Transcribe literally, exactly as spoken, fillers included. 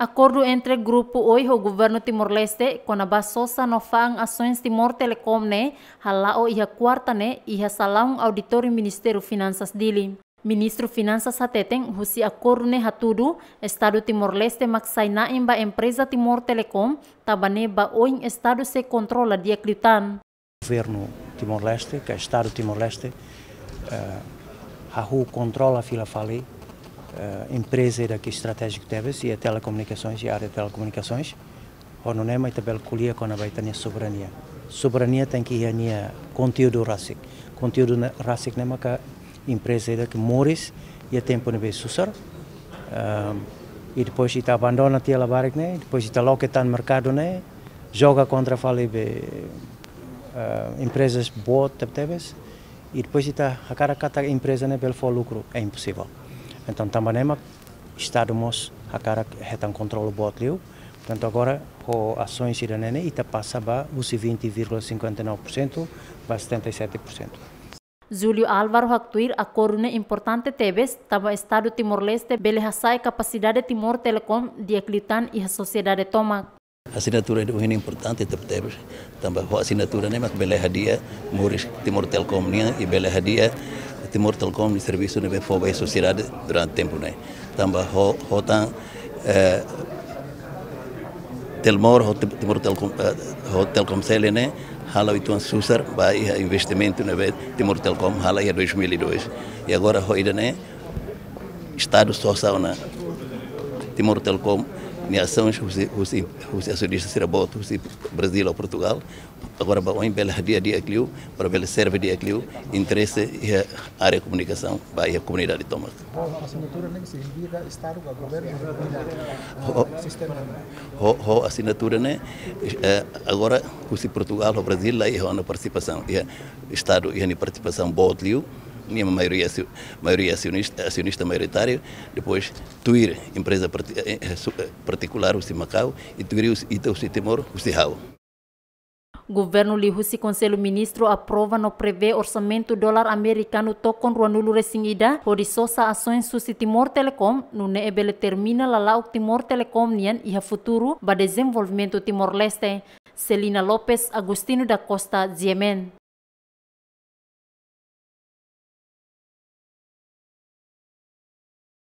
Akordu entre Grupu Oi ho Governu Timor-Leste kona-ba sosa no fa'an asoens Timor Telecom ne'e hala'o iha kuarta ne'e iha salaun auditóriu Ministériu Finansas Dili. Ministru Finansas hateten, husi akordu ne'e hatudu, Estadu Timor-Leste mak sai na'in ba empreza Timor Telecom, tanba ne'e ba oin Estadu sei kontrola di'ak liután. Governu Timor-Leste, ka Estadu Timor-Leste, eh, hahú kontrola fila fali, eh, empreza ida ke estratéjiku tebes, iha telekomunikasoens, iha área telekomunikasoens. Ho nune'e mak ita bele ko'alia kona-ba ita-nia soberania. Soberania tenke iha nia konteúdu rasik. Konteúdu ne'e rasik ne'e maka empreza ida ke moris iha tempu ne'ebé susar. Ehm, i depois ita abandona tiha labarik ne'e, depois ita loke tan merkadu ne'e, joga kontra fali be, eh, emprezas boot tebetebes, i depois ita hakarak katak empreza ne'e bele fó lukru, é imposivel. Entaun, tanba ne'e mak Estadu mós hakarak hetan kontrolu boot liu. Portantu, agora, ho asoens ida-ne'e ne'e, ita pasa ba husi vinte vírgula cinquenta e nove por cento ba setenta e sete por cento. Júlio Álvaro haktuir akordu ne'e importante tebes, tanba Estadu Timor-Leste bele hasa'e kapasidade Timor Telecom di'ak liután iha sosiedade tomak. Asinatura ida ohin importante tebetebes, tanba ho asinatura ne'e mak bele hadi'a moris Timor Telecom nian i bele hadi'a Timor Telecom nia servisu ne'ebé fó ba sosiedade durante tempu ne'e. Tanba ho, ho tan, eh, Telmor ho Tim-, Timor Telecom, eh, ho Telkomcel ne'e halo uitoan susar ba iha investimentu ne'ebé Timor Telecom halo iha dois mil e dois. I agora ho ida-ne'e, Estadu sosa ona Timor Telecom nia asoens husi, husi, husi asionista sira boot, husi Brazil ou Portugal. Agora ba oin bele hadi'a di'ak liu, para bele serve di'ak liu interese iha área komunikasaun ba iha komunidade tomak. Ho asinatura ne'e signifika Estadu ka governu ida, ho, eh, sistema ne'e? Ho, ho asinatura ne'e, eh, agora husi Portugal ho Brazil la iha ona partisipasaun, iha Estadu iha nia partisipasaun boot liu, nia maioria asio-, maioria asionista, asionista maioritáriu, depois tuir empreza parti-, eh, eh, su-, eh, partikulár husi Makau, i tuir husi, ita husi Timor, husi ha'u. Governu liuhusi Konsellu Ministru aprova no prevee orsamentu dolar amerikanu tokon ruanulu resin ida, hodi sosa asoens husi Timor Telecom, nune'e bele termina lala'ok Timor Telecom nian iha futuru ba dezenvolvimentu Timor-Leste. Celina Lopes, Agostinho da Costa, G M N.